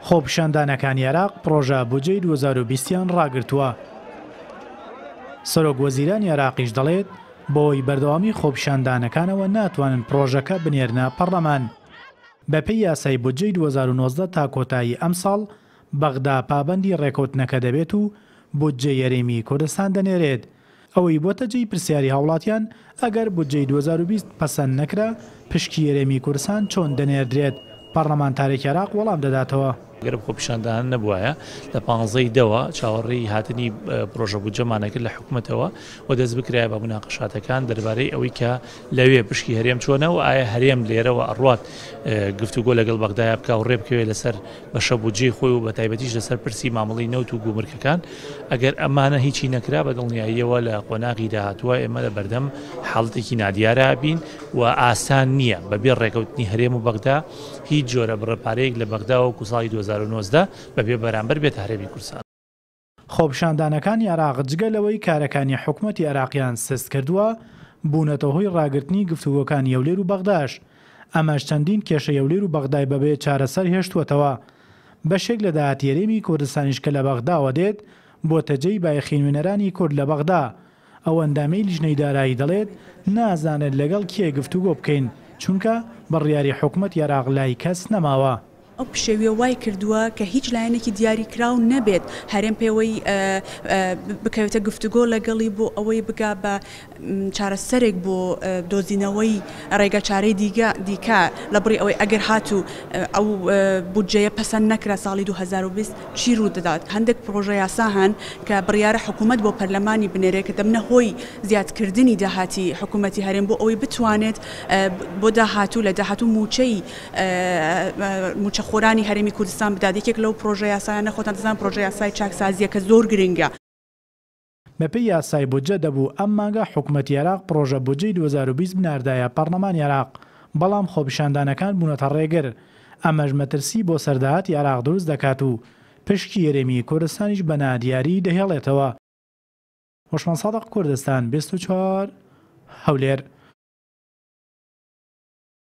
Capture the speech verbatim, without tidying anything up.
خۆپیشاندانەکانی عێراق پڕۆژە بودجەی دوو هەزار و بیست یان ڕاگرتووە. سەرۆک وەزیرانی عێراقیش دەڵێت بەهۆی بەردەوامی خۆپیشاندانەکانەوە ناتوانن پڕۆژەکە بنێرنە پەرلەمان. بەپێی یاسای بودجەی دوو هەزار و نۆزدە تا کۆتایی ئەمساڵ بەغدا پابەندی ڕێکەوتنەکە دەبێت و بودجەی هەرێمی کوردستان دەنێرێت. ئەوەی بۆتە جێی پرسیاری هاوڵاتیان ئەگەر بودجەی دوو هەزار و بیست پەسەند نەکرا پشکی هەرێمی کوردستان چۆن دەنێردرێت؟ پەرلەمانتارێکی عێراق وەڵام دەداتەوە. ئەگەر خۆپیشاندان نەبوایە لە پانزەی دەوە چاوەڕێی هاتنی پرۆژە بودجەمانە کرد لە حکوومەتەوە و دەست بکرایە بە مناقەشاتەکان دەربارەی ئەوەی کە لەوێ پشکی هەرێم چۆنە و ئایا هەرێم لێرەوە ئەڕوات گفتوگۆ لەگەڵ بەغدایە بکا و ڕێ بکەوێت لەسەر بەشە بودجەی خۆی و بە تایبەتیش لەسەر پرسی مامەڵەی نەوت و گومرکەکان. ئەگەر ئەمانە هیچی نەکرا بە دڵنیاییەوە لە قۆناغی داهاتووە ئێمە لە بەردەم حاڵەتێکی نادیارە بین و ئاسان نییە بەبێ ڕێکەوتنی هەرێم و بەغدا هیچ جۆرە بڕە پارەیەک لە بەغداوە وەکو ساڵی دوو هەزار و نۆزدە بەبێ بەرامبەر بێتە هەرێمی کوردستان. خۆپیشاندانەکانی عێراق جگە لەوەی کارەکانی حکوومەتی عێراقیان سست کردووە، بوونەتە هۆی ڕاگرتنی گفتوگۆکانی هەولێر و بەغداش. ئەمەش چەندین کێشەی هەولێر و بەغدای بەبێ چارەسەر هێشتووەتەوە. بەشێک لە داهاتی هەرێمی کوردستانیش کە لە بەغداوە دێت بۆتە جێی بایەخی نوێنەرانی کورد لە بەغدا. ئەو ئەندامەی لیژنەی دارایی دەڵێت نازانێت لەگەڵ کێ گفتوگۆ بکەین، چونکە بڕیاری حکوومەتی عێراق لای کەس نەماوە. ئەو پشێویە وای کردووە کە هیچ لایەنێکی دیاریکراو نەبێت هەرێم پێوەی بکەوێتە گفتوگۆ لەگەڵی بۆ ئەوەی بگا بە چارەسەرێک بۆ دۆزینەوەی ڕێگەچارەی دیکە لە بڕی ئەوەی ئەگەر هاتوو ئەو بودجەیە پەسەند نەکرا ساڵی دوو هەزار و بیست چی ڕوو دەدات. هەندێک پرۆژە یاسا هەن کە بڕیارە حکوومەت بۆ پەرلەمانی بنێرێت کە دەبنە هۆی زیادکردنی داهاتی حکوومەتی هەرێم بۆ ئەوەی بتوانێت بۆ داهاتوو لە داهاتوو موچەی موچەخۆرانی هەرێمی کوردستان بدات. یەکێک لەو پرۆژە یاسایانە خۆتان دەزانن پرۆژە یاسای چاکسازیە کە زۆر گرنگە. بەپێی یاسای بودجە دەبوو ئەم مانگە حکوومەتی عێراق پرۆژە بودجەی دوو هەزار و بیست بناردایە پەرلەمانی عێراق، بەڵام خۆپیشاندانەکان بوونەتە ڕێگر. ئەمەش مەترسی بۆ سەرداهاتی عێراق دروست دەکات و پشکی هەرێمی کوردستانیش بە نادیاری دەهێڵێتەوە. هۆشمەند سادق، کوردستان بیست و چوار، هەولێر.